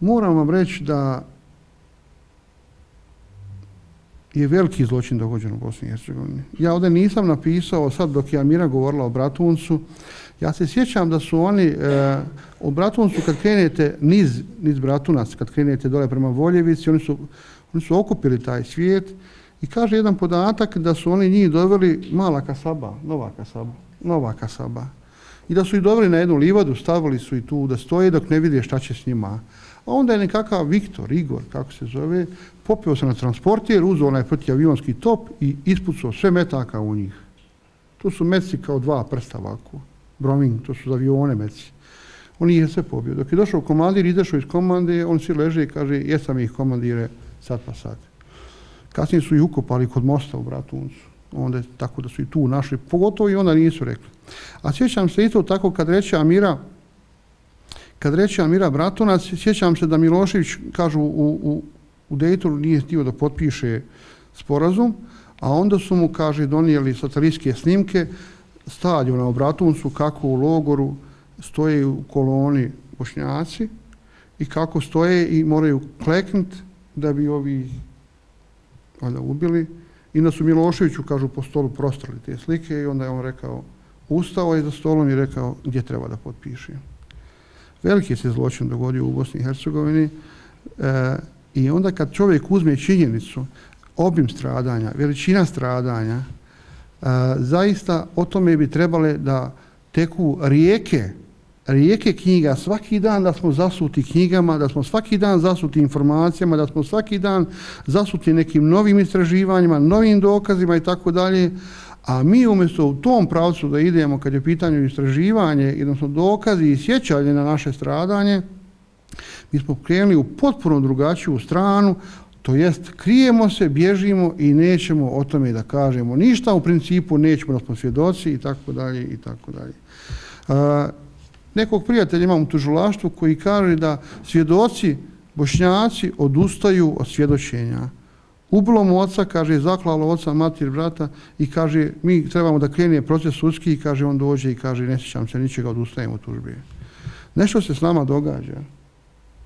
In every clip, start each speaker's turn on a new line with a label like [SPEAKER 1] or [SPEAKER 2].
[SPEAKER 1] moram vam reći da je veliki zločin dogođen u Bosni i Hercegovini. Ja ovdje nisam napisao, sad dok je Amira govorila o Bratuncu, ja se sjećam da su oni u Bratuncu, kad krenete niz Bratunac, kad krenete dole prema Voljevici, oni su okupili taj svijet i kaže jedan podatak da su oni njih doveli Mala Kasaba, Nova Kasaba. I da su ih doveli na jednu livadu, stavili su i tu da stoje dok ne vide šta će s njima. A onda je nekakav Viktor, Igor, kako se zove, popeo se na transportir, uzeo onaj protivavionski top i ispucao sve metaka u njih. To su meci kao dva prsta ovako. Broming, to su za avione meci. On ih je sve pobio. Dok je došao komandir, izašao iz komande, on svi leže i kaže, jesam ih komandire, sad pa sad. Kasnije su ih ukopali kod mosta u Bratuncu. Onda tako da su i tu našli, pogotovo i onda nisu rekli. A sjećam se isto tako kad reče Amira Bratunac, sjećam se da Milošević, kažu, u Dejtonu nije htio da potpiše sporazum, a onda su mu, kaže, donijeli satelitske snimke stadiona u Bratuncu, kako u logoru stoje u koloni Bošnjaci i kako stoje i moraju kleknuti da bi ovi ubili. I da su Miloševiću, kažu, po stolu prostrali te slike i onda je on rekao, ustao je za stolom i rekao gdje treba da potpiše. Veliki se zločin dogodio u Bosni i Hercegovini i onda kad čovjek uzme činjenicu, obim stradanja, veličina stradanja, zaista o tome bi trebale da teku rijeke knjiga svaki dan, da smo zasuti knjigama, da smo svaki dan zasuti informacijama, da smo svaki dan zasuti nekim novim istraživanjima, novim dokazima i tako dalje. A mi umjesto u tom pravcu da idemo kad je pitanje istraživanje, odnosno dokazi i sjećanje na naše stradanje, mi smo krenuli u potpuno drugačiju stranu, to jest krijemo se, bježimo i nećemo o tome da kažemo ništa, u principu nećemo da smo svjedoci i tako dalje i tako dalje. Nekog prijatelja imam u tužilaštvu koji kaže da svjedoci Bošnjaci odustaju od svjedočenja. Ubilo mu oca, kaže, zaklalo oca, mater, brata i kaže, mi trebamo da krene proces sudski i kaže, on dođe i kaže, ne sjećam se ničega, odustajem od tužbe. Nešto se s nama događa.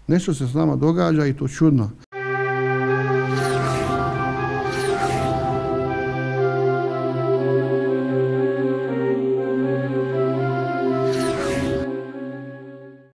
[SPEAKER 1] Nešto se s nama događa i to čudno.